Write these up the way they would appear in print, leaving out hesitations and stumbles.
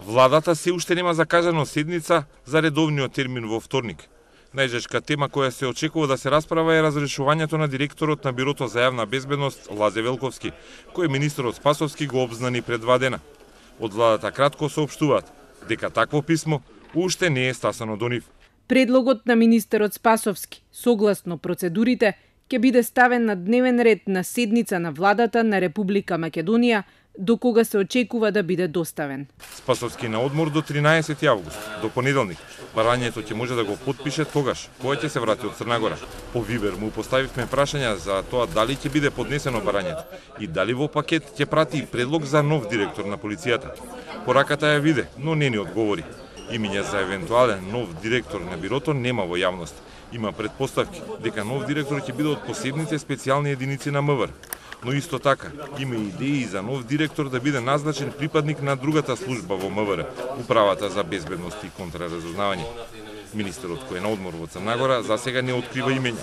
Владата се уште нема закажано седница за редовниот термин во вторник. Најжешка тема која се очекува да се расправа е разрешувањето на директорот на Бирото за јавна безбедност Лазе Велковски, кој министерот Спасовски го обзнани пред 2 дена. Од владата кратко соопштуваат дека такво писмо уште не е стасано до нив. Предлогот на министерот Спасовски, согласно процедурите, ќе биде ставен на дневен ред на седница на владата на Република Македонија, до кога се очекува да биде доставен. Спасовски на одмор до 13 август, до понеделник. Барањето ќе може да го потпише тогаш, кога ќе се врати од Црна Гора. По Вибер му поставивме прашања за тоа дали ќе биде поднесено барањето и дали во пакет ќе прати и предлог за нов директор на полицијата. Пораката ја виде, но не ни одговори. Имиња за евентуален нов директор на бирото нема во јавност. Има предпоставки дека нов директор ќе биде од посебните специјални единици на МВР. Но исто така, има идеи за нов директор да биде назначен припадник на другата служба во МВР, Управата за безбедност и контраразузнавање. Министерот кој е на одмор во Црна Гора за сега не открива имења.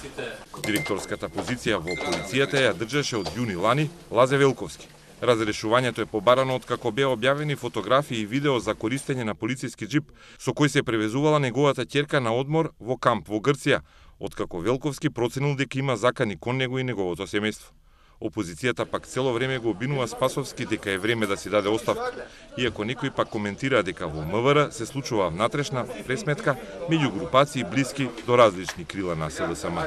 Директорската позиција во полицијата ја држеше од јуни лани Лазе Велковски. Разрешувањето е побарано откако беа објавени фотографии и видео за користење на полициски џип со кој се превезувала неговата ќерка на одмор во камп во Грција, откако Велковски проценил дека има закани кон него и неговото семејство. Опозицијата пак цело време го обвинува Спасовски дека е време да си даде оставка, иако некои пак коментира дека во МВР се случува внатрешна пресметка меѓу групации блиски до различни крила на СДСМ.